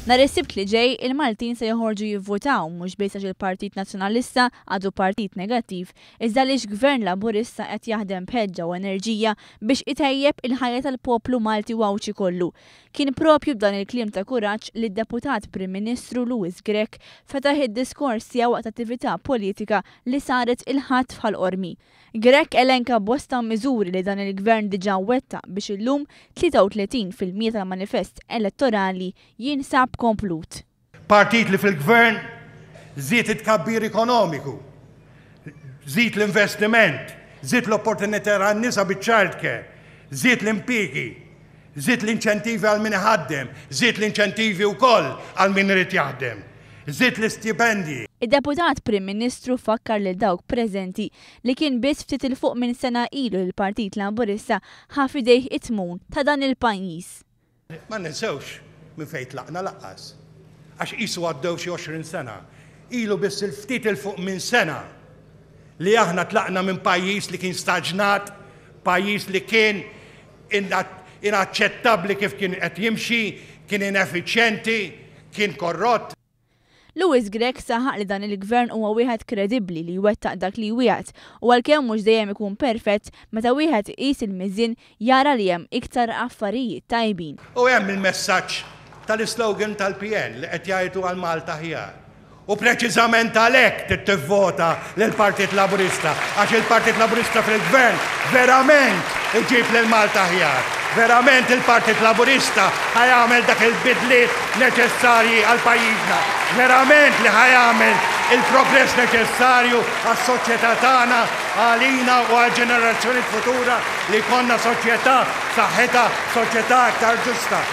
Nhar is-Sibt li ġej, il-Maltin se joħorġu jivvutaw mhux biss għax il-Partit Nazzjonalista għadu partit negattiv, iżda għaliex Gvern Laburista qed jaħdem b'ħeġġa u enerġija biex itejjeb il-ħajja tal-poplu Malti u Għawdxi kollu. Kien propju b'dan il-kliem ta' kuraġġ li d-Deputat Prim Ministru Louis Grech fetaħ id-diskors tiegħu waqt attività politika li saret il-Ħadd f'Ħal Qormi. Grech elenka bosta miżuri li dan il-Gvern diġà wettaq biex illum 33% tal-manifest elettorali jinsab komplut. Partit li fil-Gvern żied it-tkabbir ekonomiku, żied l-investiment, żied l-opportunità għan-nisa biċ-child care, żied l-impjiegi, żied l-inċentivi għal min iħaddem, żied l-inċentivi wkoll għal min irid jaħdem, żied l-istipendji. Id-Deputat Prim Ministru fakkar lil dawk preżenti li kien biss ftit 'il fuq minn sena ilu li l-Partit Laburista ħa f'idejh it-tmun ta' dan il-pajjiż. Ma ninsewx minn fejn tlaqna lanqas. Għax qisu għaddew xi 20 sena. Ilu biss il ftit 'il fuq minn sena li aħna tlaqna minn pajjiż li kien staġnat, pajjiż li kien inaċċettabbli kif kien qed jimxi, kien ineffiċjenti, kien korrott. Louis Grech saħaq li dan il-Gvern huwa wieħed kredibbli li jwettaq dak li jwiegħed u għalkemm mhux dejjem ikun perfett, meta wieħed iqis il-miżien jara li hemm iktar affarijiet tajbin. U hemm il-messaġġ tal-islogan tal-PN li qed jgħidu għal Malta Aħjar. U preċiżament għalhekk trid tivvota lill-Partit Laburista, għax il-Partit Laburista fil-Gvern verament iġib lil Malta aħjar. Verament il-Partit Laburista ħa jagħmel dak il-bidliet neċessarji għal pajjiżna. Verament li ħa jagħmel il-progress neċessarju għas-soċjetà tagħna, għalina u għall-ġenerazzjoni futura li jkollna soċjetà b'saħħitha, soċjetà aktar ġusta.